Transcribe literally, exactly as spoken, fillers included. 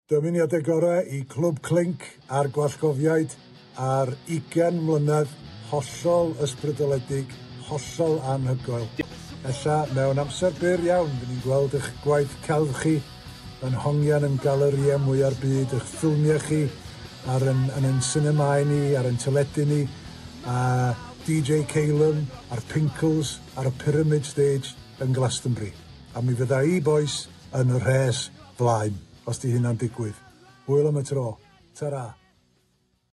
Dymuniadau gorau i Clwb Clink a'r Gwallgofiaid ar ugain mlynedd hollol ysbrydoledig, hollol anhygoel. Ella mewn amser byr iawn, fy ni'n gweld eich gwaith celf chi yn hongian yn galerïau mwya'r byd, eich ffilmiau chi ar yn, yn yn sinemâu ni, ar yn teledu ni, a D J Calum a'r Pinkles ar y Pyramid Stage yn Glastonbury. A mi fydda i, boys, yn y rhes flaen, os di hynna'n digwydd. Hwyl am y tro. Ta-ra.